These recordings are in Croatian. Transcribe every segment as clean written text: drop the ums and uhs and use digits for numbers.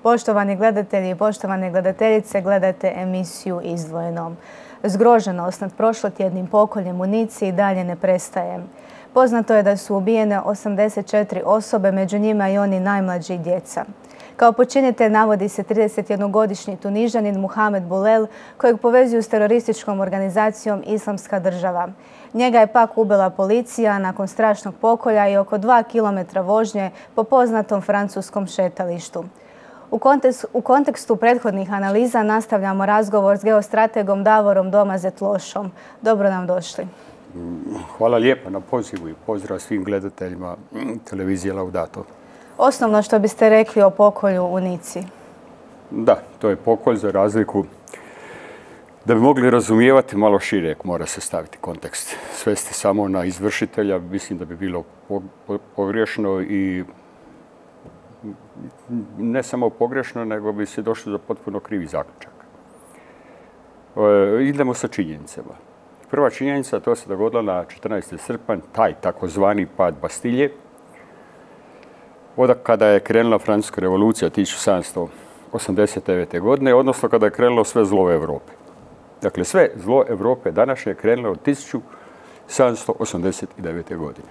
Poštovani gledatelji i poštovane gledateljice, gledate emisiju Izdvojeno. Zgroženost nad prošlotjednim pokoljem u Nici i dalje ne prestaje. Poznato je da su ubijene 84 osobe, među njima i oni najmlađi i djeca. Kao počinitelj navodi se 31-godišnji Tunižanin Muhamed Bulel, kojeg povezuju s terorističkom organizacijom Islamska država. Njega je pak ubila policija nakon strašnog pokolja i oko 2 kilometra vožnje po poznatom francuskom šetalištu. U kontekstu prethodnih analiza nastavljamo razgovor s geostrategom Davorom Domazet-Lošom. Dobro nam došli. Hvala lijepa na pozivu i pozdrav svim gledateljima televizije Laudato. Osnovno što biste rekli o pokolju u Nici? Da, to je pokolj za razliku. Da bi mogli razumijevati malo šire, mora se staviti kontekst. Svesti samo na izvršitelja, mislim da bi bilo pogrešno i ne samo pogrešno, nego bi se došlo do potpuno krivi zaključak. Idemo sa činjenicama. Prva činjenica, to se dogodilo na 14. srpanj, taj takozvani pad Bastilje, kada je krenula Francuska revolucija 1789. godine, odnosno kada je krenulo sve zlo Europe. Dakle, sve zlo Europe današnje je krenulo od 1789. godine.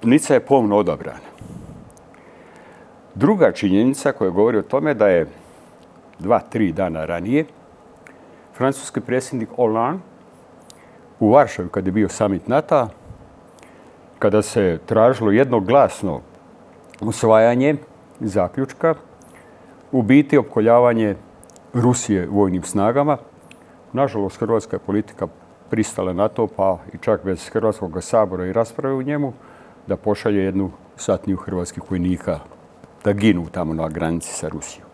Nica je pomno odabrana. Druga činjenica koja govori o tome da je 2-3 dana ranije francuski predsjednik Hollande u Varšavi, kada je bio summit NATO-a, kada se tražilo jednoglasno usvajanje zaključka, u biti opkoljavanje Rusije vojnim snagama. Nažalost, hrvatska politika pristala na to, pa i čak bez Hrvatskog sabora i rasprave u njemu, da pošalje jednu satniju hrvatskih vojnika da ginu tamo na granici sa Rusijom.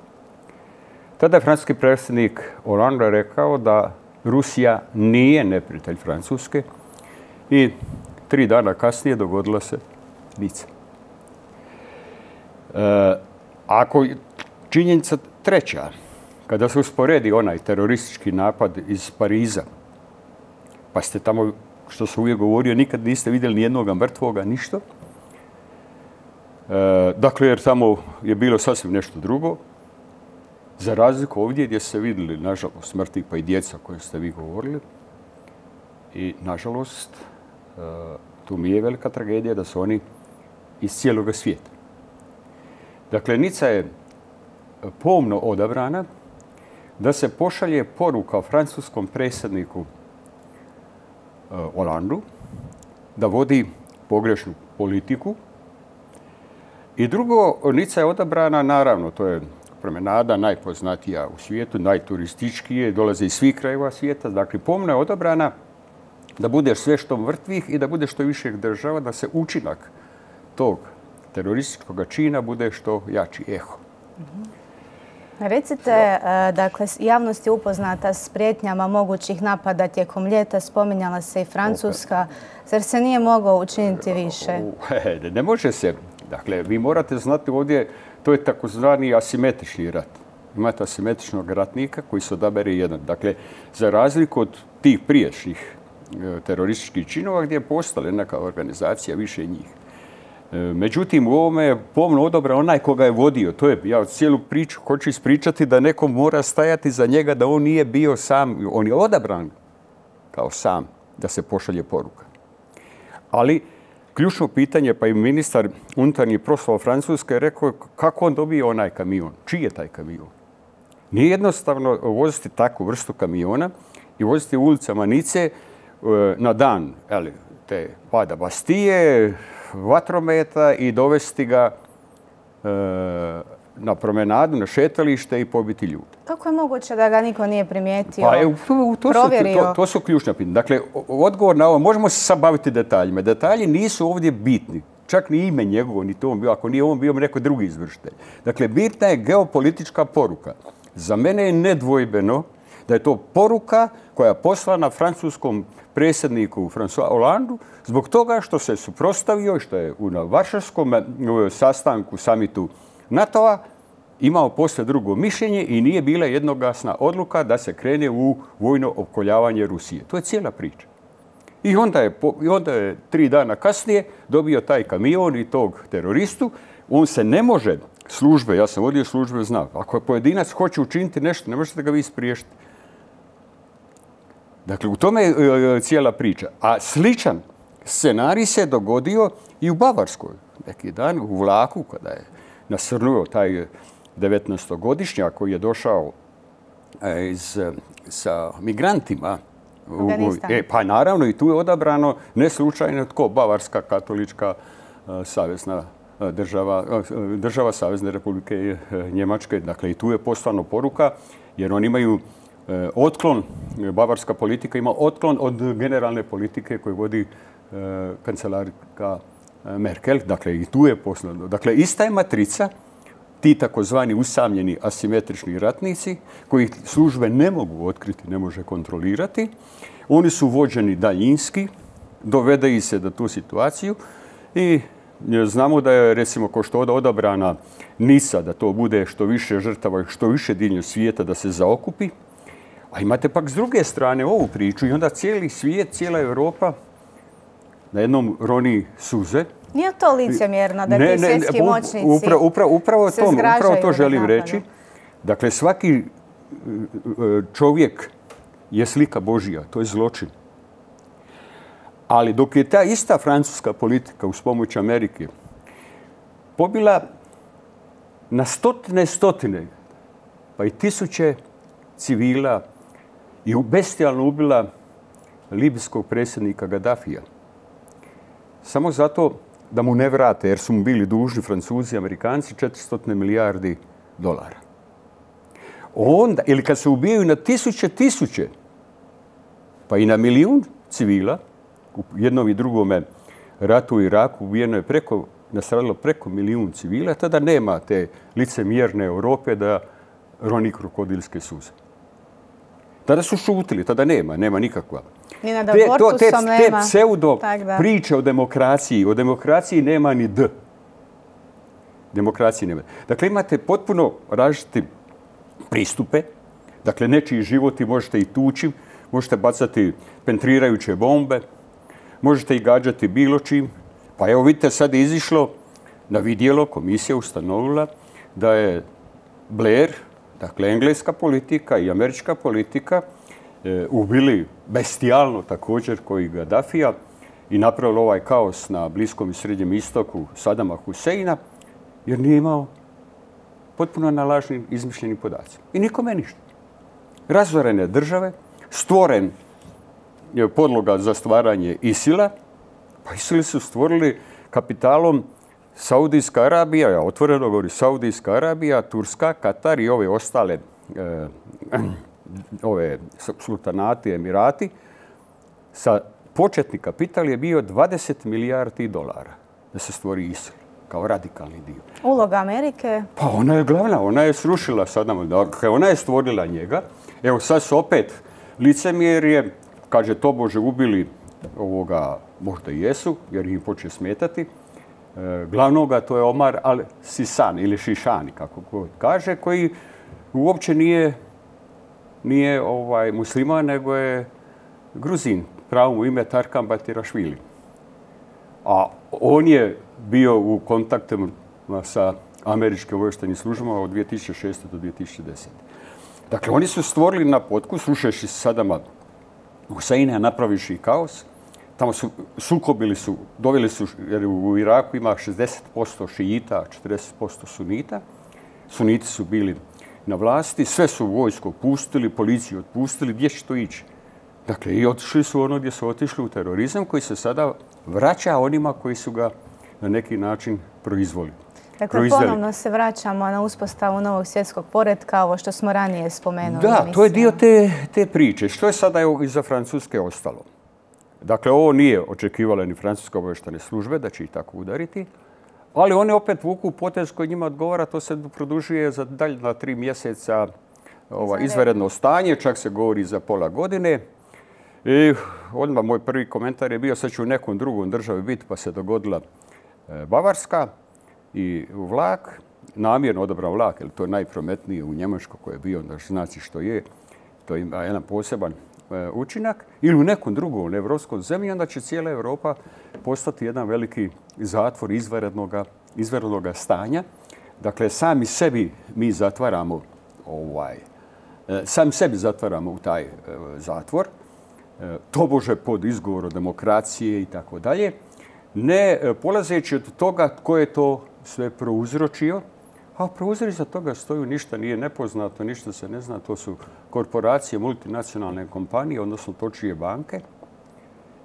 Tada je francuski predsjednik Hollande rekao da Rusija nije neprijatelj Francuske i 3 dana kasnije dogodila se Nica. Ako činjenica treća, kada se usporedi onaj teroristički napad iz Pariza, pa ste tamo, što sam uvijek govorio, nikad niste vidjeli ni jednoga mrtvoga, ništa. Dakle, jer tamo je bilo sasvim nešto drugo. Za razliku ovdje gdje ste vidjeli, nažalost, smrti pa i djeca koje ste vi govorili. I, nažalost, tu mi je velika tragedija da su oni iz cijeloga svijeta. Dakle, Nica je pomno odabrana da se pošalje poruka francuskom predsjedniku Hollandu da vodi pogrešnu politiku. I drugo, Nica je odabrana, naravno, to je promenada najpoznatija u svijetu, najturističkije, dolaze iz svih krajeva svijeta. Dakle, pomno je odabrana da bude sve što mrtvih i da bude što više država, da se učinak tog terorističkog čina bude što jači eho. Recite, dakle, javnost je upoznata s prijetnjama mogućih napada tijekom ljeta, spominjala se i Francuska. Zar se nije moglo učiniti više? Ne može se. Dakle, vi morate znati ovdje, to je takozvani asimetrični rat. Imate asimetričnog ratnika koji se odabere jedan. Dakle, za razliku od tih prijašnjih terorističkih činova gdje je postala neka organizacija, više njih. Međutim, u ovome je pomno odabran onaj koga je vodio. To je, ja cijelu priču hoću ispričati da neko mora stajati za njega, da on nije bio sam. On je odabran kao sam da se pošalje poruka. Ali ključno pitanje, pa i ministar unutarnjih poslova Francuske je rekao kako on dobije onaj kamion. Čiji je taj kamion? Nije jednostavno voziti takvu vrstu kamiona i voziti u ulicama Nice na dan te pada Bastije, vatrometa i dovesti ga na promenadu, na šetalište i pobiti ljude. Kako je moguće da ga niko nije primijetio, provjerio? To su ključna pitanja. Dakle, odgovor na ovo, možemo se sad baviti detaljima. Detalji nisu ovdje bitni. Čak ni ime njegovo, ni to on bio. Ako nije on bio, neko drugi izvršitelj. Dakle, bitna je geopolitička poruka. Za mene je nedvojbeno da je to poruka koja je poslana francuskom predsjedniku François Hollandu zbog toga što se suprotstavio i što je na varšavskom sastanku, samitu NATO-a, imao posve drugo mišljenje i nije bila jednoglasna odluka da se krene u vojno opkoljavanje Rusije. To je cijela priča. I onda je 3 dana kasnije dobio taj kamion i tog teroristu. On se ne može službe, ja sam vodio službe, znam, ako pojedinac hoće učiniti nešto, ne možete ga vi spriješiti. Dakle, u tome je cijela priča. A sličan scenarij se dogodio i u Bavarskoj. Neki dan u vlaku, kada je nasrnuo taj 19-godišnjak koji je došao sa migrantima. Pa naravno i tu je odabrano ne slučajno tko, Bavarska katolička savezna država Savezne Republike Njemačke. Dakle, i tu je poslano poruka, jer oni imaju otklon, bavarska politika ima otklon od generalne politike koju vodi kancelarka Merkel. Dakle, i tu je poslano. Dakle, ista je matrica, ti takozvani usamljeni asimetrični ratnici, koji službe ne mogu otkriti, ne može kontrolirati. Oni su vođeni daljinski, dovede ih se do tu situaciju i znamo da je, recimo, ko što je odabrana Nisa, da to bude što više žrtava, što više diljem svijeta da se zaokupi. A imate pak s druge strane ovu priču i onda cijeli svijet, cijela Europa na jednom roni suze. Nije to licemjerno da ti svjetski moćnici upravo to želim reći. Dakle, svaki čovjek je slika Božja, to je zločin. Ali dok je ta ista francuska politika uz pomoć Amerike pobila na stotine, pa i tisuće civila i bestijalno ubila libijskog predsjednika Gaddafija, samo zato da mu ne vrate, jer su mu bili dužni Francuzi i Amerikanci 400 milijardi dolara. Onda, ili kad se ubijaju na tisuće, pa i na milijun civila, u jednom i drugome ratu u Iraku nastradalo preko milijun civila, tada nema te licemjerne Europe da roni krokodilske suze. Tada su šutili, tada nema nikakva. Te pseudo priče o demokraciji nema ni D. Demokracije nema. Dakle, imate potpuno različite pristupe. Dakle, nečiji životi možete i tući, možete bacati pentrirajuće bombe, možete i gađati bilo čim. Pa evo vidite, sad je izišlo na vidjelo, komisija ustanovila da je Blair, dakle engleska politika i američka politika, ubili bestijalno također koji Gaddafija i napravili ovaj kaos na Bliskom i Srednjem istoku Sadama Huseina, jer nije imao potpuno na lažnim izmišljenim podacima. I nikome ništa. Razorene države, stvoren je podloga za stvaranje ISIL-a, pa ISIL su stvorili kapitalom Saudijska Arabija, ja otvoreno govorim Saudijska Arabija, Turska, Katar i ove ostale ove sultanati, emirati. Početni kapital je bio 20 milijardi dolara da se stvori ISIL kao radikalni dio. Uloga Amerike? Pa ona je glavna, ona je srušila Sadama, dakle ona je stvorila njega. Evo sad su opet licemjerje, kaže tobože ubili ovoga, možda i jesu, jer im počne smetati. Glavnoga to je Omar al-Sisan ili Šišani, kako god kaže, koji uopće nije musliman, nego je Gruzin. Pravo mu ime Tarkan Batirašvili. A on je bio u kontaktima sa američkim obavještajnim službama od 2006. do 2010. Dakle, oni su stvorili na potku, slušajući Sadama Huseina, napravivši kaos. Tamo su sukobili doveli su, jer u Iraku ima 60% šijita, 40% sunita. Suniti su bili na vlasti, sve su vojsko pustili, policiju otpustili, gdje će to ići? Dakle, i otišli su ono gdje su otišli u terorizam koji se sada vraća onima koji su ga na neki način proizveli. Dakle, ponovno se vraćamo na uspostavu novog svjetskog poretka, ovo što smo ranije spomenuli. Da, to je dio te priče. Što je sada iza Francuske ostalo? Dakle, ovo nije očekivala ni francuske obavještajne službe da će ih tako udariti, ali oni opet vuku potez koji njima odgovara, to se produžuje za daljna 3 mjeseca izvanredno stanje, čak se govori za pola godine. I odmah moj prvi komentar je bio, sad će u nekom drugom državi biti, pa se dogodila Bavarska i vlak. namjerno odabrao vlak, jer to je najprometnije u Njemačkoj koje je bio, da znači što je, to ima jedan poseban učinak, ili u nekom drugom evropskom zemlji, onda će cijela Europa postati jedan veliki zatvor izvanrednog stanja. Dakle, sami sebi mi zatvaramo sami sebi zatvaramo u taj zatvor, tobože pod izgovorom demokracije i tako dalje, ne polazeći od toga tko je to sve prouzročio, a prouzroci toga stoju, ništa nije nepoznato, ništa se ne zna, to su korporacije, multinacionalne kompanije, odnosno točije banke.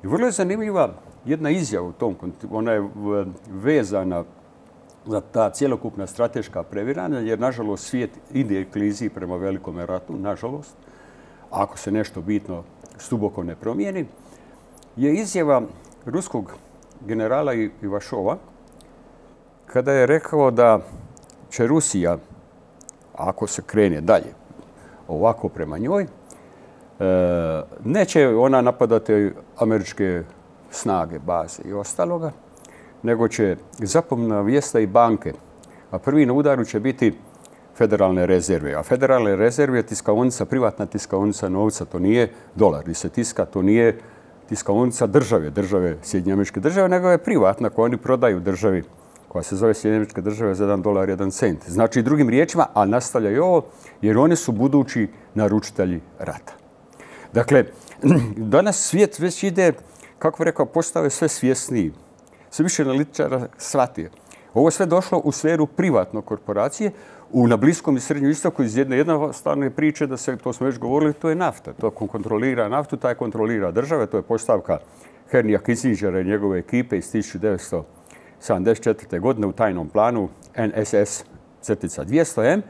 I vrlo je zanimljiva jedna izjava u tom kontekstu, ona je vezana za ta cjelokupna strateška previranja, jer nažalost svijet ide klizi prema velikom ratu, nažalost, ako se nešto bitno duboko ne promijeni, je izjava ruskog generala Ivašova kada je rekao da će Rusija, ako se krene dalje ovako prema njoj, neće ona napadati američke snage, baze i ostaloga, nego će zapomna vijesta i banke. A prvi na udaru će biti federalne rezerve. A federalne rezerve je tiskaonica, privatna tiskaonica novca. To nije dolar gdje se tiska, to nije tiskaonica države Sjedinjene Američke Države, nego je privatna koju oni prodaju državi koja se zove Sjedinjene Američke Države za $1, 1 cent. Znači, drugim riječima, a nastavljaju ovo, jer oni su budući naručitelji rata. Dakle, danas svijet već ide, kako bih rekao, postao je sve svjesniji. Sve više analitičara shvatio. Ovo je sve došlo u sferu privatne korporacije. Na Bliskom i Srednjem istoku iz jednostavne priče, da se, to smo već govorili, to je nafta. To kontrolira naftu, taj kontrolira države. To je postavka Henrya Kissingera i njegove ekipe iz 1974. godine u tajnom planu NSS-200M.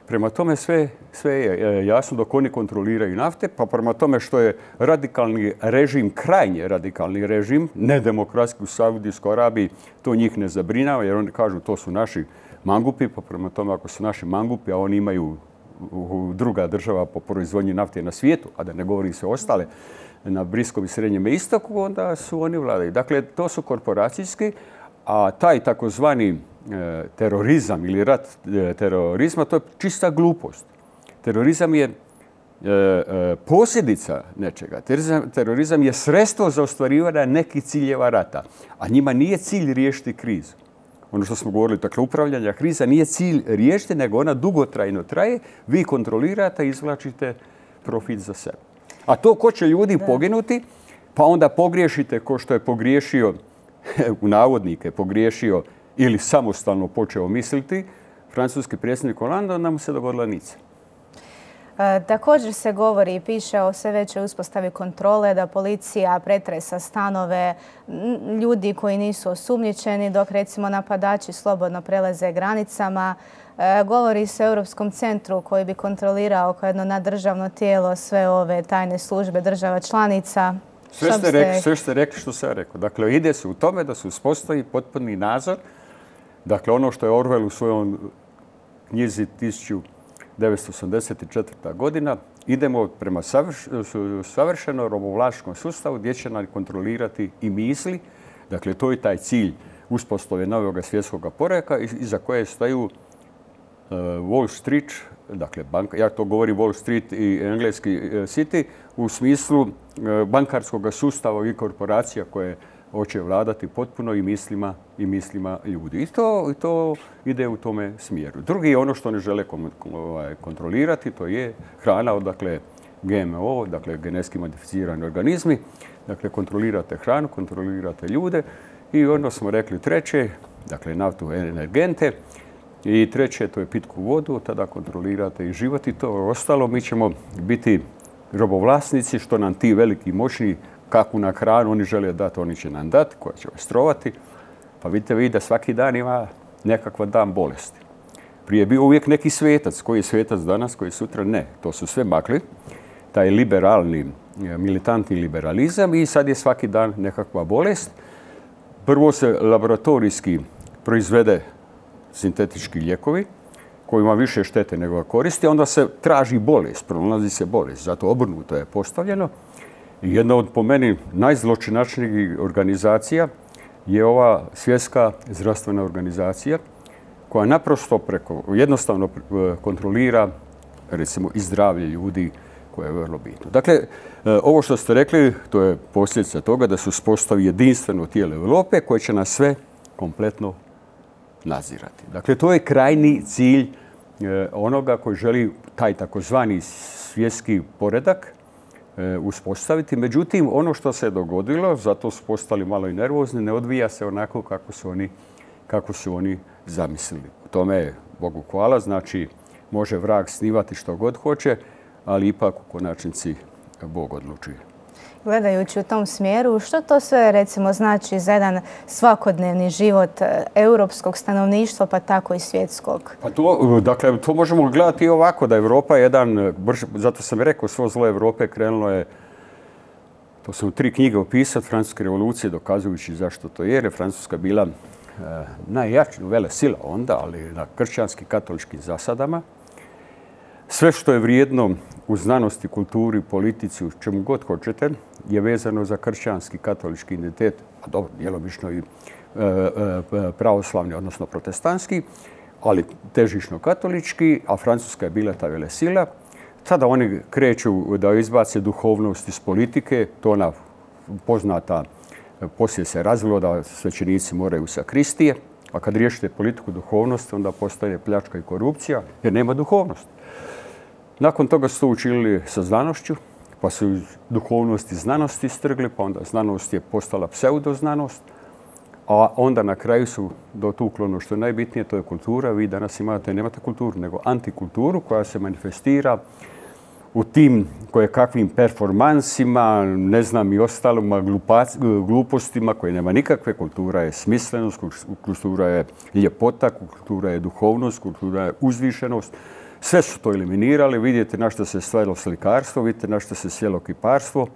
Prema tome sve je jasno dok oni kontroliraju nafte, pa prema tome što je radikalni režim, krajnje radikalni režim, nedemokratski u Saudijskoj Arabiji, to njih ne zabrinjava jer oni kažu to su naši mangupi, pa prema tome ako su naši mangupi, a oni imaju druga država po proizvodnji nafte na svijetu, a da ne govorim sve ostale, na Bliskom i Srednjem istoku, onda su oni vladaju. Dakle, to su korporacijski, a taj takozvani terorizam ili rat terorizma, to je čista glupost. Terorizam je posljedica nečega. Terorizam je sredstvo za ostvarivanje nekih ciljeva rata, a njima nije cilj riješiti krizu. Ono što smo govorili, dakle, upravljanja kriza nije cilj riješiti, nego ona dugotrajno traje, vi kontrolirate i izvlačite profit za sebe. A to ko će ljudi poginuti, pa onda pogriješite ko što je pogriješio, u navodnike, pogriješio ili samostalno počeo misliti, francuski predsjednik Hollande, onda mu se dogodila nica. Također se govori i piše o sve većoj uspostavi kontrole, da policija pretresa stanove ljudi koji nisu osumnjičeni, dok recimo napadači slobodno prelaze granicama. Govori se o Europskom centru koji bi kontrolirao kao jedno naddržavno tijelo sve ove tajne službe država članica. Sve ste rekli što sam rekao. Dakle, ide se u tome da se uspostavi potpuni nadzor. Dakle, ono što je Orwell u svojom knjizi 1984. godina, idemo prema savršeno robovlasničkom sustavu gdje će nam kontrolirati i misli. Dakle, to je taj cilj uspostave novog svjetskog poretka iza koje staju Wall Street, dakle, ja to govorim Wall Street i engleski City, u smislu bankarskog sustava i korporacija koje hoće vladati potpuno i mislima ljudi. I to ide u tome smjeru. Drugi je ono što ne žele kontrolirati, to je hrana, odakle GMO, dakle genetski modificirani organizmi. Dakle, kontrolirate hranu, kontrolirate ljude i onda smo rekli treće, dakle naftu, energente, i treće, to je pitku vodu, tada kontrolirate i život i to ostalo. Mi ćemo biti robovlasnici, što nam ti veliki moćni, kakvu na hranu oni žele dati, oni će nam dati, koja će vas trovati. Pa vidite vi da svaki dan ima nekakva dan bolesti. Prije je bio uvijek neki svetac. Koji je svetac danas, koji je sutra? Ne. To su sve makli. Taj liberalni, militantni liberalizam i sad je svaki dan nekakva bolest. Prvo se laboratorijski proizvede sintetički lijekovi koji ima više štete nego koristi, onda se traži bolest, pronalazi se bolest. Zato obrnuto je postavljeno. I jedna od, po meni, najzločinačnijih organizacija je ova Svjetska zdravstvena organizacija koja naprosto jednostavno kontrolira, recimo, i zdravlje ljudi, koje je vrlo bitno. Dakle, ovo što ste rekli, to je posljedica toga da se uspostavi jedinstveno tijelo Europe koje će nas sve kompletno nadzirati. Dakle, to je krajni cilj onoga koji želi taj takozvani svjetski poredak uspostaviti. Međutim, ono što se dogodilo, zato su postali malo i nervozni, ne odvija se onako kako su oni zamislili. U tome, Bogu hvala, znači može vrag snivati što god hoće, ali ipak u konačnici Bog odlučuje. Gledajući u tom smjeru, što to sve recimo znači za jedan svakodnevni život europskog stanovništva, pa tako i svjetskog? Pa to možemo gledati i ovako, da Europa je jedan, zato sam rekao, svo zlo Europe krenulo je, to sam u 3 knjige opisao, Francuske revolucije, dokazujući zašto to je, jer je Francuska bila najjača velesila onda, ali na kršćanski katoličkim zasadama. Sve što je vrijedno u znanosti, kulturi, politici, u čemu god hoćete, je vezano za kršćanski katolički identitet, a dobro, djelomično i pravoslavni, odnosno protestantski, ali težišno katolički, a Francuska je bila ta velesila. Tada oni kreću da izbace duhovnost iz politike, to ona poznata, poslije se razvilo da svećenici moraju u sakristije, a kad riješite politiku duhovnost, onda postaje pljačka i korupcija, jer nema duhovnosti. Nakon toga su to učinili sa znanošću, pa su iz duhovnosti znanosti strgli, pa onda znanost je postala pseudoznanost, a onda na kraju su dotuklo ono što je najbitnije, to je kultura. Vi danas nemate kulturu, nego antikulturu koja se manifestira u tim kojekakvim performansima, ne znam i ostalima glupostima koje nema nikakve. Kultura je smislenost, kultura je ljepota, kultura je duhovnost, kultura je uzvišenost. Sve su to eliminirali. Vidite na što se svelo slikarstvo, vidite na što se svelo kiparstvo,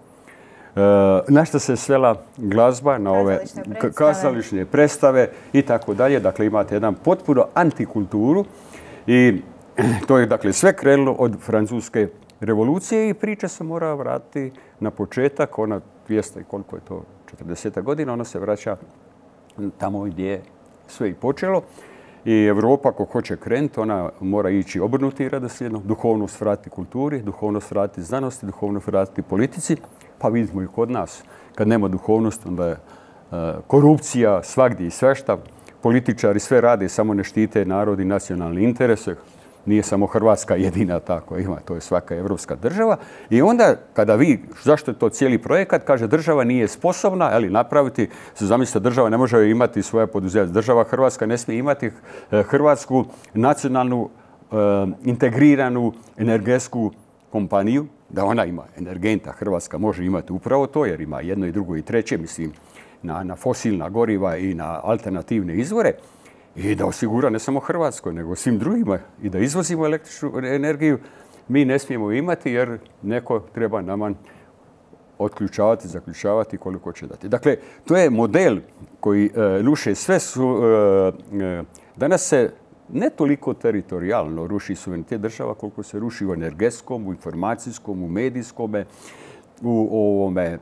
na što se svela glazba, na ove kazališne predstave i tako dalje. Dakle, imate jedan potpuno antikulturu i to je dakle sve krenulo od Francuske revolucije i priča se mora vratiti na početak. Ona 200 i koliko je to, 40 godina, ona se vraća tamo gdje je sve i počelo. I Europa, ako hoće krenuti, ona mora ići obrnuti redoslijedno, duhovnost vratiti kulturi, duhovnost vratiti znanosti, duhovnost vratiti politici. Pa vidimo i kod nas, kad nema duhovnosti, onda je korupcija svagdje i svešta. Političari sve rade, samo ne štite narod i nacionalne interese. Nije samo Hrvatska jedina tako ima, to je svaka evropska država. I onda kada zašto je to cijeli projekat, kaže država nije sposobna napraviti, zamislite, država ne može imati svoje poduzeće. Država Hrvatska ne smije imati hrvatsku nacionalnu integriranu energetsku kompaniju, da ona ima energenta. Hrvatska može imati upravo to, jer ima jedno i drugo i treće, mislim, na fosilna goriva i na alternativne izvore. I da osigura ne samo Hrvatskoj, nego svim drugima i da izvozimo električnu energiju, mi ne smijemo imati jer neko treba nama otključavati, zaključavati koliko će dati. Dakle, to je model koji ruše sve. Danas se ne toliko teritorijalno ruši suverenitet država koliko se ruši u energetskom, u informacijskom, u medijskom, u ovome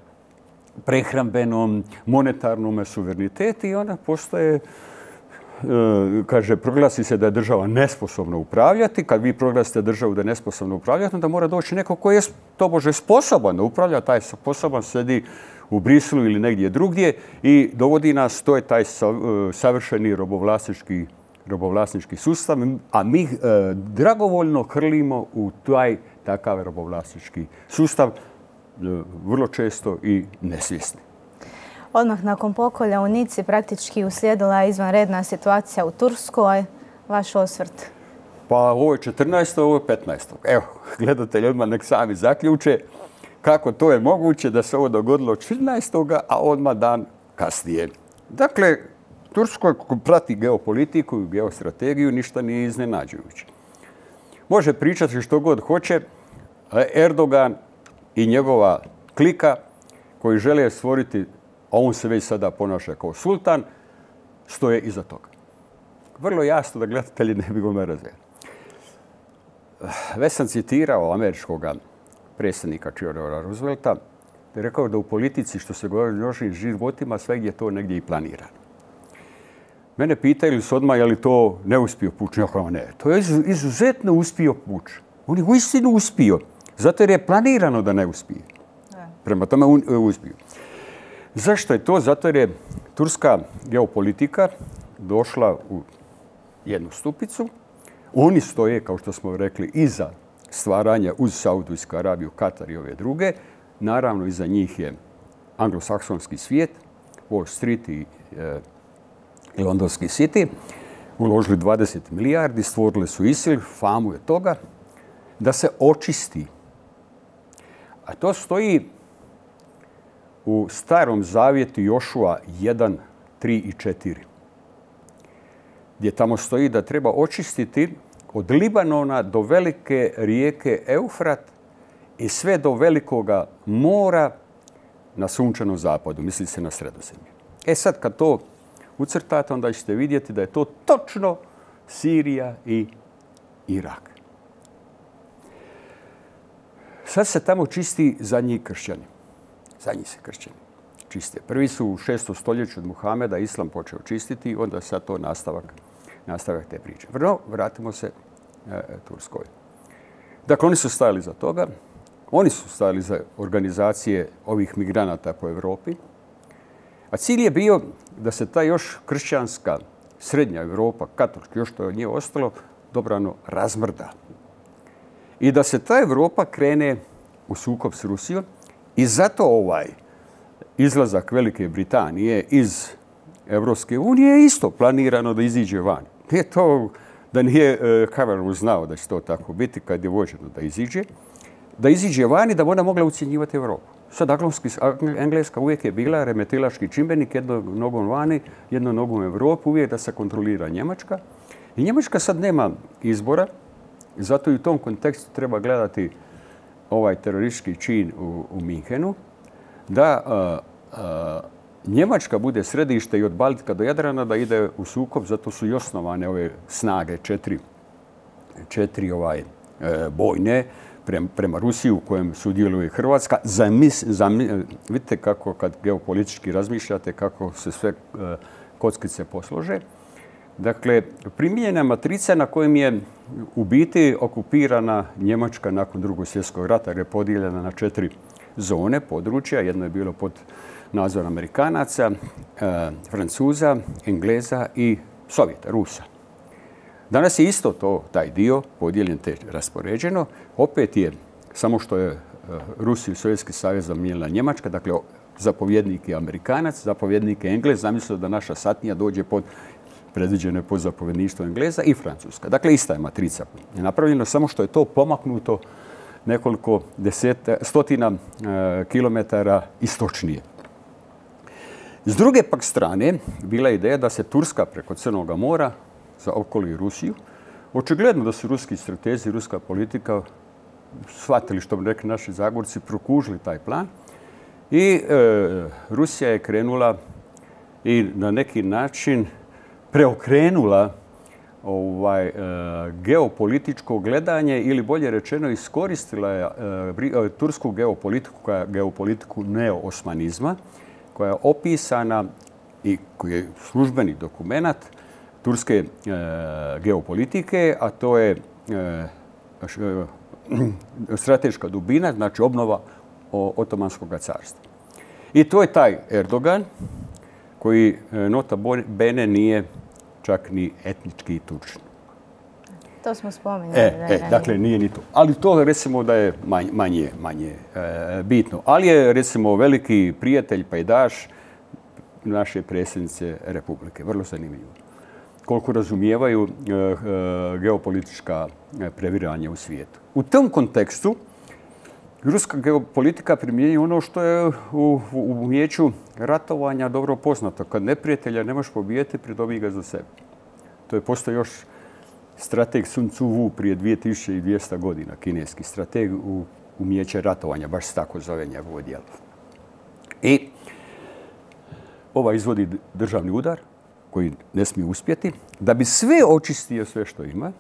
prehrambenom, monetarnom suverenitetu i onda postoje, kaže, proglasi se da je država nesposobna upravljati. Kad vi proglasite državu da je nesposobna upravljati, onda mora doći neko koji je tobože sposoban da upravlja. Taj sposoban sedi u Briselu ili negdje drugdje i dovodi nas, to je taj savršeni robovlasnički sustav, a mi dragovoljno hrlimo u taj takav robovlasnički sustav, vrlo često i nesvjesni. Odmah nakon pokolja u Nici praktički uslijedila je izvanredna situacija u Turskoj. Vaš osvrt? Pa ovo je 14. ovo je 15. Evo, gledatelji odmah nek sami zaključe kako to je moguće da se ovo dogodilo 14. a odmah dan kasnije. Dakle, Turskoj prati geopolitiku i geostrategiju, ništa nije iznenađujuće. Može pričati što god hoće, Erdogan i njegova klika koji žele stvoriti, a on se već sada ponaša kao sultan, stoje iza toga. Vrlo jasno da gledatelji ne bi gome razvijeli. Već sam citirao američkog predsjednika Theodora Roosevelta, da je rekao da u politici, što se govori o životima, svegdje je to negdje i planirano. Mene pitaju su odmah je li to neuspio puč. Ja kao ne, to je izuzetno uspio puč. On je uistinu uspio, zato jer je planirano da ne uspije. Prema tome uspio. Zašto je to? Zato jer je turska geopolitika došla u jednu stupicu. Oni stoje, kao što smo rekli, iza stvaranja uz Saudijsku Arabiju, Katar i ove druge. Naravno, iza njih je anglosaksonski svijet, Wall Street i londonski City. Uložili 20 milijardi, stvorili su ISIL, famu je toga, da se očisti. A to stoji u Starom zavjetu Jošua 1, 3 i 4. Gdje tamo stoji da treba očistiti od Libanona do velike rijeke Eufrat i sve do velikoga mora na sunčanom zapadu. Misli se na Sredozemlje. Sad kad to ucrtate, onda ćete vidjeti da je to točno Sirija i Irak. Sad se tamo čisti zadnji kršćani. Zadnji se kršćani čiste. Prvi su u 6. stoljeću od Muhameda Islam počeo čistiti, onda sad to nastavak te priče. Vratimo se Turskoj. Dakle, oni su stajali za toga. Oni su stajali za organizacije ovih migranata po Europi. A cilj je bio da se ta još kršćanska srednja Europa, katolička, još što je od nje ostalo, dobrano razmrda. I da se ta Europa krene u sukob s Rusijom. I zato ovaj izlazak Velike Britanije iz Evropske unije je isto planirano da iziđe van. Nije to da nije Cameron znao da će to tako biti kad je vođeno da iziđe van i da ona mogla ucjenjivati Europu. Sad Engleska uvijek je bila remetilački čimbenik, jednom nogom vani, jednom nogom u Europu, uvijek da se kontrolira Njemačka. I Njemačka sad nema izbora, zato i u tom kontekstu treba gledati ovaj teroristički čin u Minhenu, da Njemačka bude središte i od Baltika do Jadrana da ide u sukob, zato su i osnovane ove snage četiri bojne prema Rusiji u kojem sudjeluje Hrvatska. Vidite kako kad geopolitički razmišljate, kako se sve kockice poslože. Dakle, primijenjena matrica na kojem je u biti okupirana Njemačka nakon Drugog svjetskog rata, jer je podijeljena na 4 zone, područja. Jedno je bilo pod nadzorom Amerikanaca, Francuza, Engleza i Sovjeta, Rusa. Danas je isto taj dio podijeljen te raspoređeno. Opet je, samo što je Rusiju i Sovjetski savez zamijenila Njemačka, dakle zapovjednik je Amerikanac, zapovjednik je Englez, zamislio da naša satnija dođe predviđeno je pod zapovjedništvo Engleza i Francuska. Dakle, ista je matrica napravljena, samo što je to pomaknuto nekoliko stotina kilometara istočnije. S druge pak strane, bila je ideja da se Turska preko Crnog mora zaokoli Rusiju. Očigledno da su ruski stratezi, ruska politika shvatili, što bi rekli naši Zagorci, prokužili taj plan. I Rusija je krenula i na neki način preokrenula geopolitičko gledanje ili bolje rečeno iskoristila je tursku geopolitiku neoosmanizma koja je opisana i koji je službeni dokument turske geopolitike, a to je strateška dubina, znači obnova Otomanskog carstva. I to je taj Erdogan koji nota bene nije čak ni etnički Turčin. To smo spominjali. Dakle, nije ni to. Ali to recimo da je manje bitno. Ali je recimo veliki prijatelj, pajdaš naše predsjednice Republike. Vrlo zanimljivo. Koliko razumijevaju geopolitička previranja u svijetu. U tom kontekstu ruska geopolitika primjenjuje ono što je u umijeću ratovanja dobro poznato. Kad neprijatelja ne možeš pobijeti, pridobi ga za sebe. To je postoji još strateg Sun Tzu Wu prije 2200 godina, kineski strateg u umijeće ratovanja, baš se tako zove njegovo djelo. I izvodi državni udar koji ne smije uspjeti, da bi sve očistio sve što ima.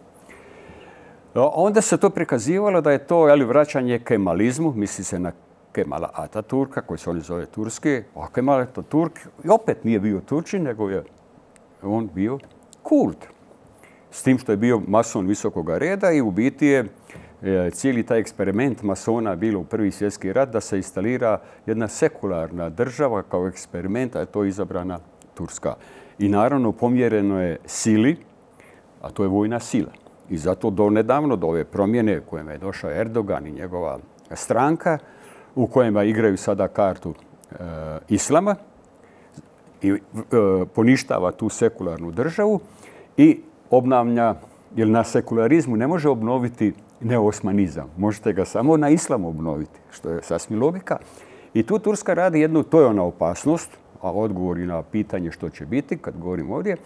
Onda se to prikazivalo da je to vraćanje kemalizmu, misli se na Kemala Ataturka, koji se oni zove Turski, a Kemal Ataturk opet nije bio Turčin, nego je on bio kult. S tim što je bio mason visokog reda i u biti je cijeli taj eksperiment masona bilo u Prvi svjetski rat da se instalira jedna sekularna država kao eksperiment, a to je izabrana Turska. I naravno pomjereno je sili, a to je vojna sila. I zato do nedavno, do ove promjene kojima je došao Erdogan i njegova stranka, u kojima igraju sada kartu islama i poništava tu sekularnu državu i obnavlja, jer na sekularizmu ne može obnoviti neosmanizam. Možete ga samo na islamu obnoviti, što je sasvim logika. I tu Turska radi jednu, to je ona opasnost, a odgovor i na pitanje što će biti, kad govorim ovdje,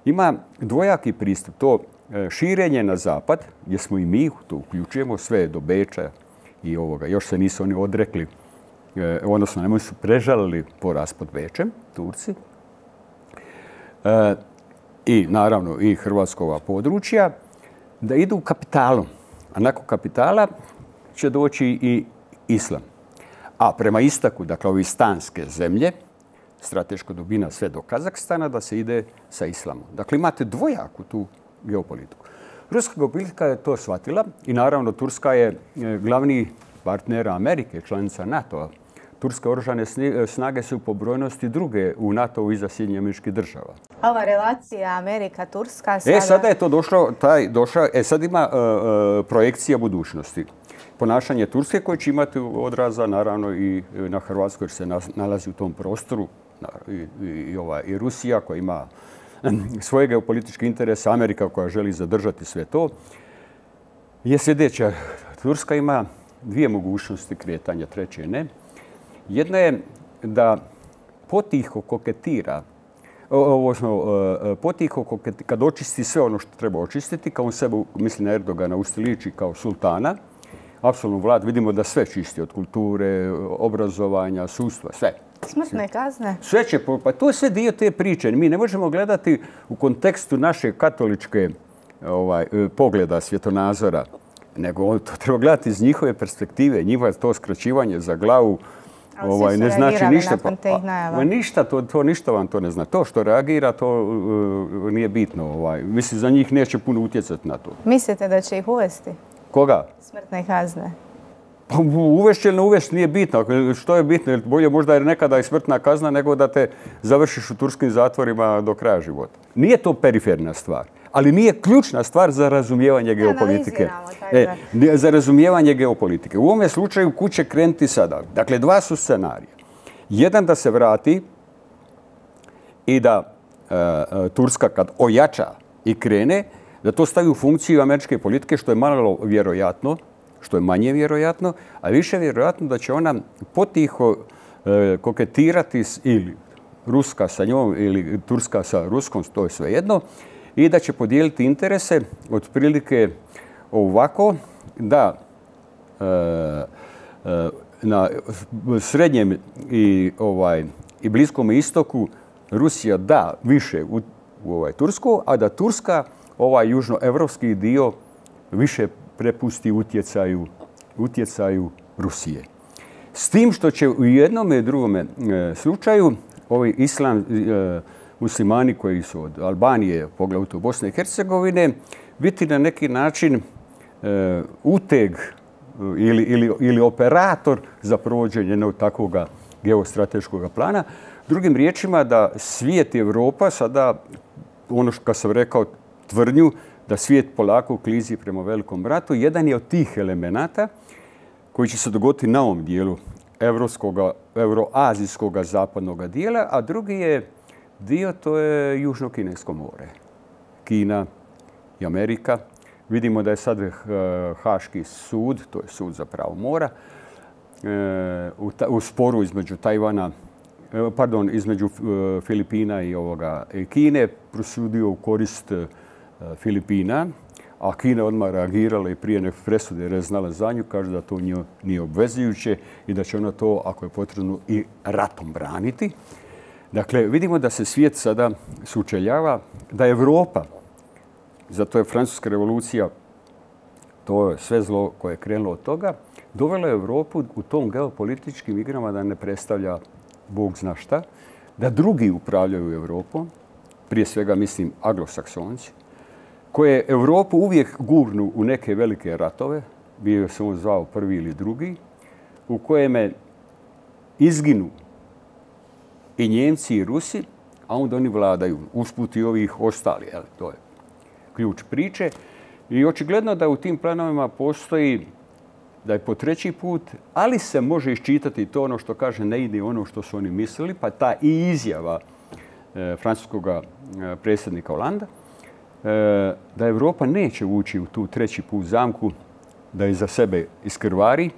ima dvojaki pristup. To širenje na zapad, gdje smo i mi, to uključujemo sve do Beča i ovoga. Još se nisu oni odrekli, odnosno nemoj su prežalili poraz pod Bečem, Turci. I naravno i hrvatskova područja, da idu kapitalom. A nakon kapitala će doći i islam. A prema istaku, dakle, ovi stanske zemlje, strateška dubina sve do Kazahstana, da se ide sa islamom. Dakle, imate dvojaku tu geopolitiku. Ruska geopolitika je to shvatila i naravno Turska je glavni partner Amerike, članica NATO-a. Turske oružane snage su po brojnosti druge u NATO-u iza Sjedinjenih Američkih Država. Ova relacija Amerika-Turska sada... Sada je to došlo, sad ima projekcija budućnosti. Ponašanje Turske koje će imati odraza naravno i na Hrvatskoj, jer se nalazi u tom prostoru, i Rusija koja ima svoje geopolitičke interese, Amerika koja želi zadržati sve to, je sljedeća. Turska ima dvije mogućnosti kretanja, treće ne. Jedna je da potiho koketira, kad očisti sve ono što treba očistiti, kao on sebe, misli na Erdogana, ustiliči kao sultana, apsolutno vlad, vidimo da sve čisti od kulture, obrazovanja, sudstva, sve. Smrtne kazne? Sve će, pa to je sve dio te priče. Mi ne možemo gledati u kontekstu naše katoličke pogleda, svjetonazora, nego to treba gledati iz njihove perspektive, njihova to skraćivanje za glavu, ne znači ništa. Ništa, to ništa vam to ne zna. To što reagira, to nije bitno. Mislim, za njih neće puno utjecati na to. Mislite da će ih uvesti? Koga? Smrtne kazne. Pa uvesti ili ne uvesti nije bitno. Što je bitno? Bolje možda je nekada i smrtna kazna nego da te završiš u turskim zatvorima do kraja života. Nije to periferna stvar, ali nije ključna stvar za razumijevanje geopolitike. Za razumijevanje geopolitike. U ovome slučaju kud će krenuti sada? Dakle, dva su scenarija. Jedan da se vrati i da Turska kad ojača i krene, da to stavi u funkciju američke politike, što je malo vjerojatno, što je manje vjerojatno, a više vjerojatno da će ona potiho koketirati ili Ruska sa njom ili Turska sa Ruskom, to je svejedno, i da će podijeliti interese otprilike ovako da na srednjem i Bliskom istoku Rusija da više u Tursku, a da Turska južnoevropski dio više prepusti utjecaju Rusije. S tim što će u jednom i drugome slučaju ovi muslimani koji su od Albanije, poglavito Bosne i Hercegovine, biti na neki način uteg ili operator za provođenje jednog takvog geostrateškog plana. Drugim riječima da svijet i Europa sada, ono što sam rekao, tvrdnju da svijet polako klizi prema velikom bratu, jedan je od tih elemenata koji će se dogoditi na ovom dijelu euroazijskog zapadnog dijela, a drugi je dio, to je Južno-Kinesko more. Kina i Amerika. Vidimo da je sad Haški sud, to je sud za pravo mora, u sporu između između Filipina i Kine prosudio u korist Filipina, a Kina odmah reagirala i prije nek presude jer je znala za nju, kaže da to nije obvezujuće i da će ona to, ako je potrebno, i ratom braniti. Dakle, vidimo da se svijet sada sučeljava, da Europa, zato je Francuska revolucija, to je sve zlo koje je krenulo od toga, dovela je Europu u tom geopolitičkim igrama da ne predstavlja Bog zna šta, da drugi upravljaju Europom, prije svega mislim anglosaksonci, koje Europu uvijek gurnu u neke velike ratove, bio se on zvao prvi ili drugi, u kojeme izginu i Njemci i Rusi, a onda oni vladaju, usput i ovih ostali. To je ključ priče. I očigledno da u tim planovima postoji da je po treći put, ali se može iščitati to ono što kaže ne ide ono što su oni mislili, pa ta i izjava francuskog predsjednika Holanda, da Europa neće ući u tu treći put zamku, da je za sebe iskrvari,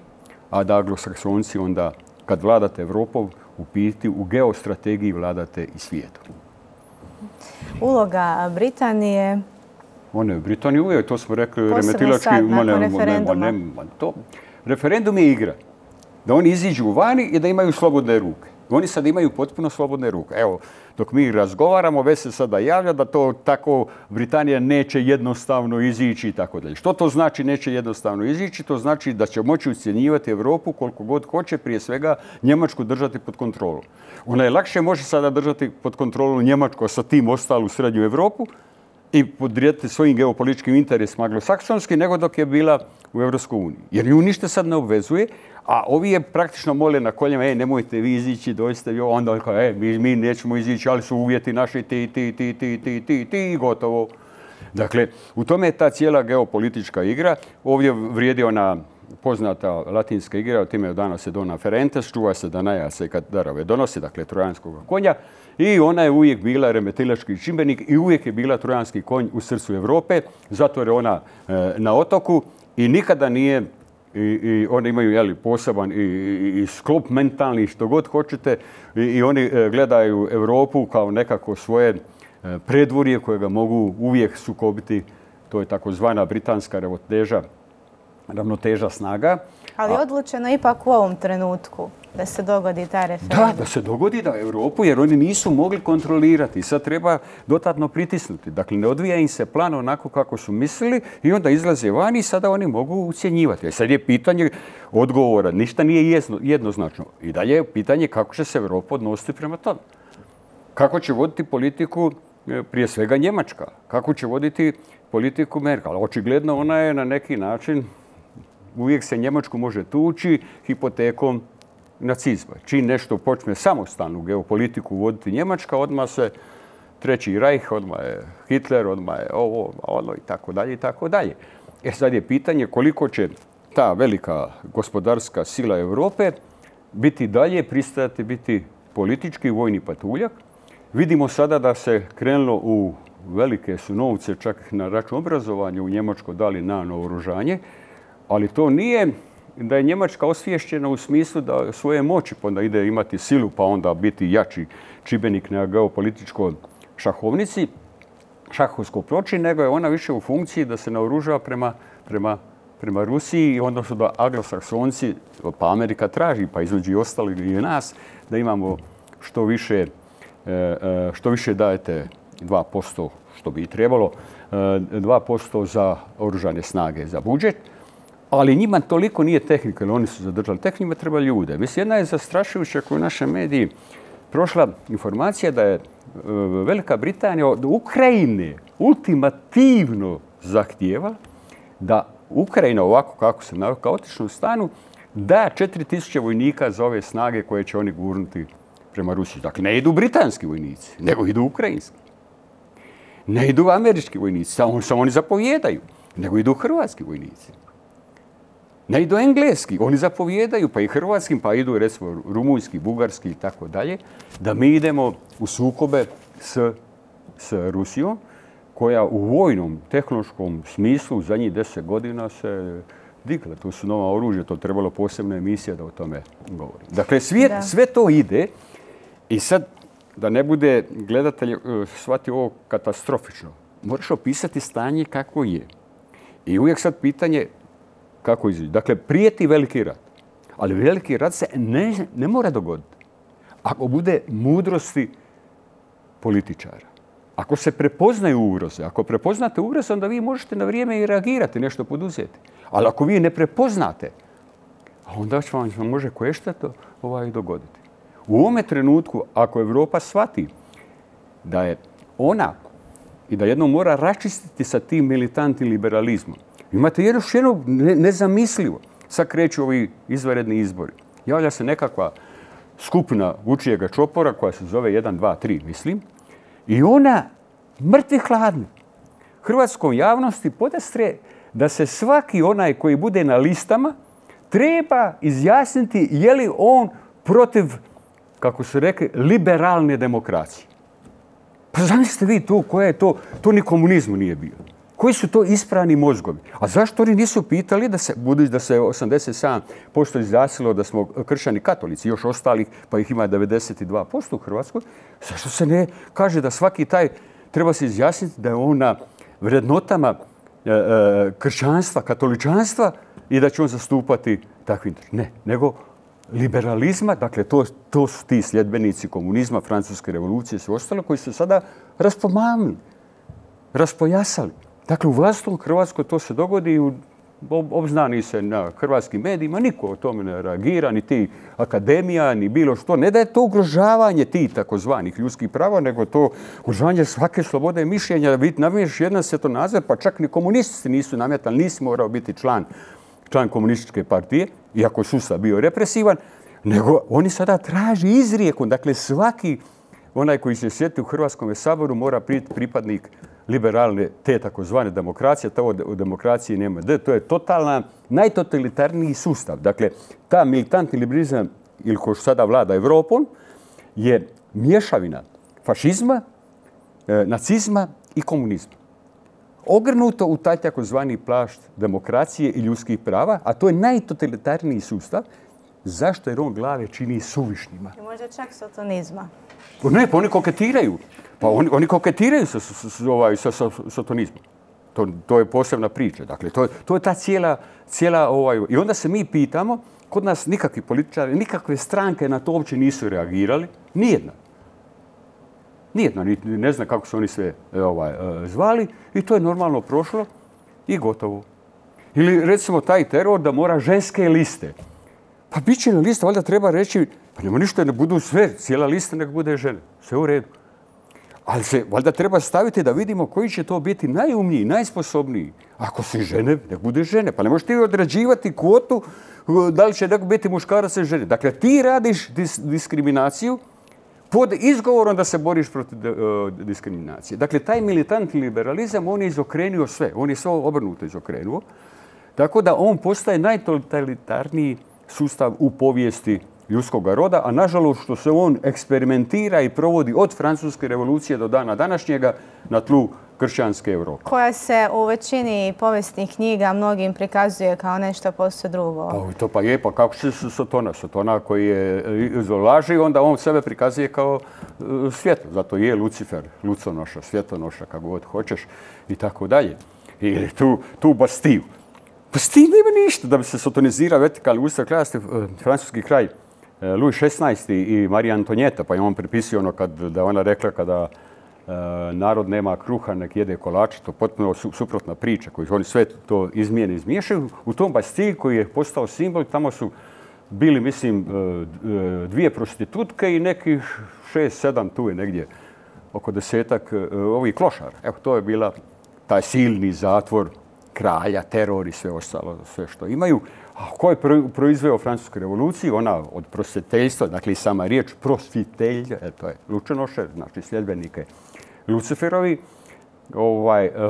a da anglosaksonci onda, kad vladate Europom, u geostrategiji vladate i svijetom. Uloga Britanije... One u Britaniji uvijek, to smo rekli, posebno sad, nakon referenduma. Referendum je igra. Da oni iziđu vani i da imaju slobodne ruke. Oni sad imaju potpuno slobodne ruke. Evo, dok mi razgovaramo, već se sada javlja da to tako Britanija neće jednostavno izići i tako dalje. Što to znači neće jednostavno izići? To znači da će moći ucjenjivati Europu koliko god hoće, prije svega Njemačku držati pod kontrolom. Ona je lakše može sada držati pod kontrolom Njemačku, a sa tim ostalu srednju Europu i podrijeti svojim geopolitičkim interesima anglosaksonski nego dok je bila u Europskoj uniji. Jer nju ništa sad ne obvezuje, a ovi je praktično mole na koljima, nemojte vi izići, doista vi, onda mi nećemo izići, ali su uvjeti naši ti i gotovo. Dakle, u tome je ta cijela geopolitička igra. Ovdje vrijedi ona poznata latinska igra, o time dana se dona ferentes, čuva se da najace kad darove donosi, dakle trojanskog konja. I ona je uvijek bila remetilački čimbenik i uvijek je bila trojanski konj u srcu Europe, zato je ona na otoku i nikada nije, i oni imaju poseban i sklop mentalni, što god hoćete, i oni gledaju Europu kao nekako svoje predvorje kojega mogu uvijek sukobiti. To je takozvana britanska ravnoteža snaga. Ali odlučeno ipak u ovom trenutku da se dogodi taj referendum. Da se dogodi da Europu, jer oni nisu mogli kontrolirati. Sad treba dodatno pritisnuti. Dakle, ne odvija im se plan onako kako su mislili i onda izlaze vani i sada oni mogu ucjenjivati. Sad je pitanje odgovora. Ništa nije jednoznačno. I dalje je pitanje kako će se Europa odnositi prema tome. Kako će voditi politiku prije svega Njemačka. Kako će voditi politiku Merkel. Očigledno ona je na neki način, uvijek se Njemačku može tući hipotekom nacizma. Čim nešto počne samostalnu geopolitiku voditi Njemačka, odmah se Treći Rajh, odmah je Hitler, odmah je ono i tako dalje i tako dalje. Sad je pitanje koliko će ta velika gospodarska sila Europe biti dalje, pristajati biti politički vojni patuljak. Vidimo sada da se krenulo u velike su novce, čak na račun obrazovanja u Njemačkoj dali na naoružanje, ali to nije da je Njemačka osviješćena u smislu da svoje moći, pa onda ide imati silu, pa onda biti jači čimbenik na geopolitičkoj šahovskoj ploči, nego je ona više u funkciji da se naoružava prema Rusiji, odnosno da anglosaksonci, pa Amerika traži, pa između ostalih i nas, da imamo što više dajete 2%, što bi i trebalo, 2% za oružane snage, za budžet. Ali njima toliko nije tehnika, jer oni su zadržali tehniku, njima treba ljude. Mislim, jedna je zastrašujuća koju naše mediji prošla informacija da je Velika Britanija od Ukrajine ultimativno zahtijeva da Ukrajina, ovako kako se navodi, kaotičnom stanu, da 4000 vojnika za ove snage koje će oni gurnuti prema Rusiji. Dakle, ne idu britanski vojnici, nego idu ukrajinski. Ne idu američki vojnici, samo oni zapovjedaju, nego idu hrvatski vojnici. Ne idu engleski, oni zapovjedaju, pa i hrvatskim, pa idu recimo rumunjski, bugarski i tako dalje, da mi idemo u sukobe s Rusijom, koja u vojnom, tehnološkom smislu u zadnjih 10 godina se digla. To su nova oružja, to trebalo posebna emisija da o tome govori. Dakle, sve to ide i sad, da ne bude gledatelj shvati ovo katastrofično, moraš opisati stanje kako je. I uvijek sad pitanje kako izaći. Dakle, prijeti veliki rat. Ali veliki rat se ne mora dogoditi. Ako bude mudrosti političara. Ako se prepoznaju ugroze. Ako prepoznate ugroze, onda vi možete na vrijeme i reagirati, nešto poduzeti. Ali ako vi ne prepoznate, onda će vam može koješta to dogoditi. U ovome trenutku, ako Europa shvati da je i da jednom mora raščistiti sa tim militantnim liberalizmom. Imate još jedno nezamislivo. Sad kreću ovi izvanredni izbori. Javlja se nekakva skupina Vučijega čopora koja se zove 1, 2, 3, mislim. I ona mrtvi hladni hrvatskom javnosti podastre da se svaki onaj koji bude na listama treba izjasniti je li on protiv, kako su rekli, liberalne demokracije. Pa zamislite vi to, koja je to, to ni komunizmu nije bio. Koji su to isprani mozgovi? A zašto oni nisu pitali, budući da se 87% izjasnilo da smo kršćani katolici, još ostalih, pa ih ima 92% u Hrvatskoj, zašto se ne kaže da svaki taj treba se izjasniti da je on na vrednotama kršćanstva, katoličanstva i da će on zastupati takvi interes? Ne, nego liberalizma, dakle to su ti sljedbenici komunizma, francuske revolucije i sve ostalo koji su sada raspomamili, raspojasali. Dakle, u vlastnom Hrvatskoj to se dogodi i obznani se na hrvatskim medijima, niko o tome ne reagira, ni ti akademija, ni bilo što. Ne da je to ugrožavanje tih takozvanih ljudskih prava, nego to ugrožavanje svake slobode mišljenja, da nametneš jedan svjetonazor, pa čak ni komunisti nisu nametali, nisi morao biti član komunističke partije, iako je sustav bio represivan, nego oni sada traži izrijekom. Dakle, svaki onaj koji se sjeti u Hrvatskom saboru mora biti pripadnik liberalne, te takozvane demokracije. To u demokraciji nema D. To je totalna, najtotalitarniji sustav. Dakle, ta militantni liberalizam, ili ko što sada vlada Evropom, je mješavina fašizma, nacizma i komunizma. Ogrnuto u taj takozvani plašt demokracije i ljudskih prava, a to je najtotalitarniji sustav. Zašto? Jer on glave čini suvišnjima. I možda čak sotonizma. Ne, pa oni koketiraju. Pa oni koketiraju sa sotonizmom. To je posebna priča. Dakle, to je ta cijela I onda se mi pitamo, kod nas nikakvi političari, nikakve stranke na to uopće nisu reagirali. Nijedna. Nijedna, ne znam kako su oni sve zvali i to je normalno prošlo i gotovo. Ili recimo taj teror da mora ženske liste. Pa bit će na lista, valjda treba reći, pa nema ništa, ne budu sve, cijela lista nek bude žene. Sve u redu. Ali se valjda treba staviti da vidimo koji će to biti najumniji, najsposobniji. Ako si žene, nek bude žene. Pa ne možeš ti određivati kvotu da li će neko biti muškarac ili žene. Dakle, ti radiš diskriminaciju pod izgovorom da se boriš protiv diskriminacije. Dakle, taj militantni liberalizam, on je izokrenuo sve. On je sve obrnuto izokrenuo. Tako da on postaje najtotalitarniji sustav u povijesti ljudskog roda, a nažalost što se on eksperimentira i provodi od Francuske revolucije do dana današnjega na tlu kršćanske Europe. Koja se u većini povijesnih knjiga mnogim prikazuje kao nešto posve drugo. To pa je, pa kako će se Sotona koji je laži, onda on sebe prikazuje kao svjetlo. Zato je Lucifer, luconoša, svjetonoša, kako god hoćeš i tako dalje. Ili tu Bastiju. Bastiju nema ništa da bi se sotonizirao vertikalni ustav kraljevstva, francuski kralj Louis XVI i Marija Antonijeta, pa je on pripisio da ona rekla kada narod nema kruha, nek jede kolače, to potpuno suprotna priča koju oni sve to izmiješaju. U tom Bastiji koji je postao simbol, tamo su bili, mislim, 2 prostitutke i nekih 6-7, tu je negdje oko 10-ak ovih klošara. Evo, to je bila taj silni zatvor kralja, teror i sve ostalo, sve što imaju. A ko je proizveo Francusku revoluciju? Ona od prosvjeteljstva, dakle i sama riječ prosvjetelj, to je lučenoše, znači sljedbenike Luciferovi.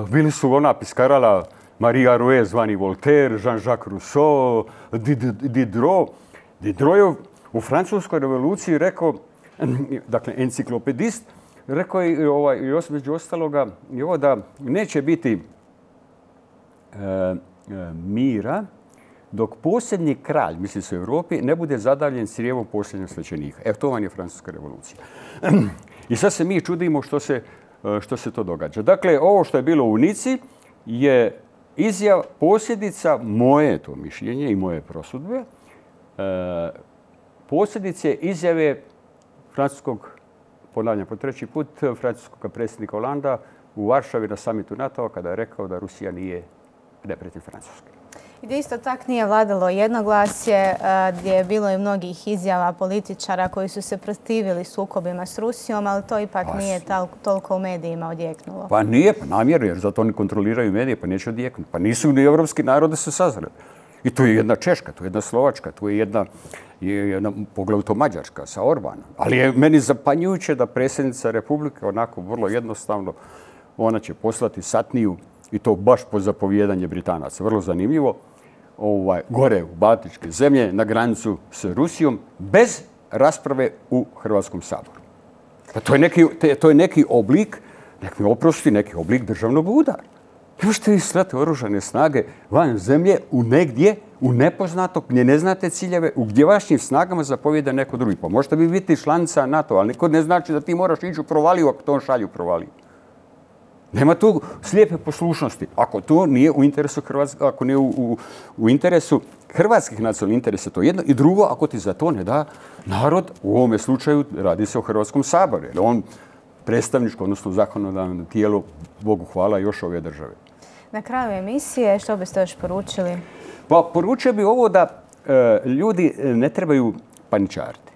Bili su ona piskarala Maria Rouet, zvani Voltaire, Jean-Jacques Rousseau, Diderot. Diderot je u Francuskoj revoluciji rekao, dakle enciklopedist, rekao je među ostaloga da neće biti mira dok posljednji kralj, misli se u Europi, ne bude zadavljen crijevom posljednjeg svećenika. Evo, to vam je Francuska revolucija. I sad se mi čudimo što se to događa. Dakle, ovo što je bilo u Nici je posljedica, moje to mišljenje i moje prosudbe, posljedice izjave francuskog, ponavljam po 3. put, francuskog predsjednika Holanda u Varšavi na samitu NATO-a kada je rekao da Rusija nije neprijatelj Francuske. Gdje isto tak nije vladalo jednoglasje, gdje je bilo i mnogih izjava političara koji su se protivili sukobima s Rusijom, ali to ipak nije toliko u medijima odjeknulo. Pa nije, pa namjerno, jer zato oni kontroliraju medije, pa neće odjeknuti. Pa nisu ni evropski narode se sazreli. I tu je jedna Češka, tu je jedna Slovačka, tu je jedna poglavito Mađarska sa Orbanom. Ali je meni zapanjujuće da predsjednica Republike onako vrlo jednostavno, ona će poslati satniju, i to baš po zapovjedanje Britanaca. Vrlo zanimljivo. Gore u Baltičke zemlje na granicu s Rusijom bez rasprave u Hrvatskom saboru. Pa to je neki oblik, neki oblik državnog udara. Ne možete vi slati oružane snage van zemlje u negdje, u nepoznato, gdje ne znate ciljeve, u gdje vašim snagama zapovijeda neko drugi. Pa možete vi biti članica NATO, ali niko ne znači da ti moraš ići u provaliju ako to on šalju u provaliju. Nema tu slijepe poslušnosti. Ako to nije u interesu Hrvatske, ako nije u interesu hrvatskih nacionalnih interesa, to je jedno. I drugo, ako ti za to ne da narod, u ovome slučaju radi se o Hrvatskom saboru. Jer on predstavničko, odnosno zakonodavno tijelo, Bogu hvala, još ove države. Na kraju emisije, što biste još poručili? Pa poručio bi ovo da ljudi ne trebaju paničariti.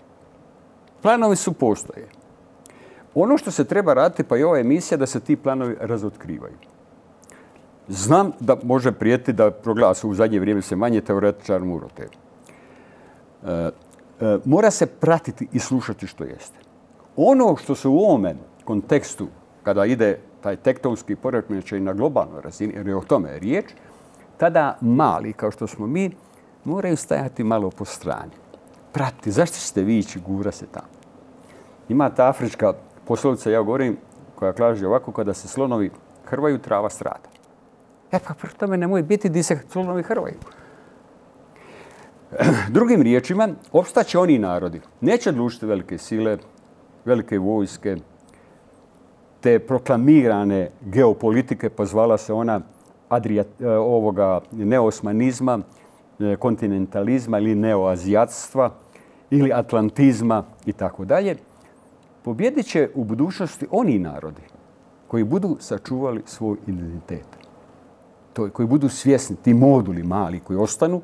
Planovi su postoje. Ono što se treba raditi, pa i ova emisija, da se ti planovi razotkrivaju. Znam da može prijeti da proglasu u zadnje vrijeme se manje teoretičar urote. Mora se pratiti i slušati što jeste. Ono što se u ovome kontekstu, kada ide taj tektonski poremećaj na globalnoj razini, jer je o tome riječ, tada mali, kao što smo mi, moraju stajati malo po strani. Pratiti, zašto ćete vi ići, gura se tamo. Ima ta afrička poslovica, ja govorim, koja kaže ovako, kada se slonovi hrvaju, trava strada. Pa prvo tome nemoj biti di se slonovi hrvaju. Drugim riječima, opstaće oni narodi. Neće odlučiti velike sile, velike vojske, te proklamirane geopolitike, pozvala se ona neosmanizma, kontinentalizma ili neoazijatstva ili atlantizma i tako dalje. Pobjedit će u budućnosti oni narodi koji budu sačuvali svoj identitet. Koji budu svjesni, ti moduli mali koji ostanu,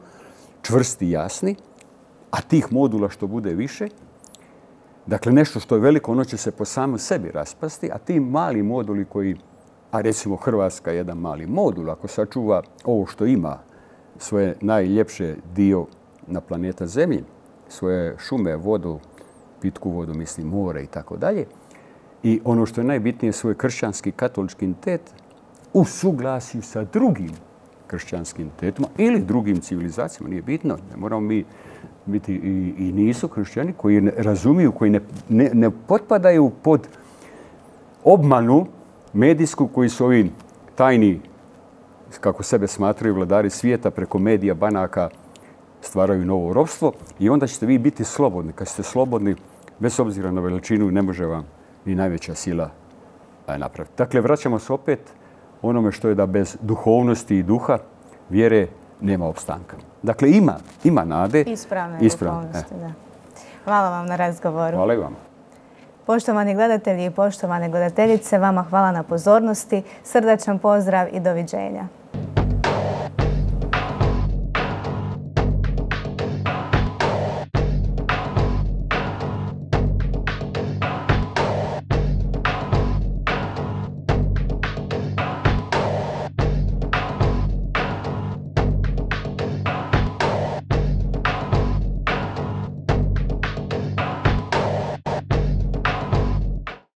čvrsti i jasni, a tih modula što bude više, dakle nešto što je veliko, ono će se po samom sebi raspasti, a ti mali moduli koji, a recimo Hrvatska je jedan mali modul, ako sačuva ovo što ima, svoje najljepše dio na planeta Zemlji, svoje šume, vodu, pitku vodu, mislim more i tako dalje. I ono što je najbitnije, svoj kršćanski katolički identitet u suglasju sa drugim kršćanskim identitetima ili drugim civilizacijama, nije bitno. Ne moramo mi biti i nisu kršćani koji ne razumiju, koji ne potpadaju pod obmanu medijsku koji su ovi tajni, kako sebe smatraju vladari svijeta, preko medija, banaka stvaraju novo ropstvo i onda ćete vi biti slobodni. Kad ste slobodni, bez obzira na veličinu, ne može vam ni najveća sila napraviti. Dakle, vraćamo se opet onome što je da bez duhovnosti i duha, vjere, nema opstanka. Dakle, ima nade. Ispravne duhovnosti, da. Hvala vam na razgovoru. Hvala i vama. Poštovani gledatelji i poštovane gledateljice, vama hvala na pozornosti, srdačan pozdrav i doviđenja.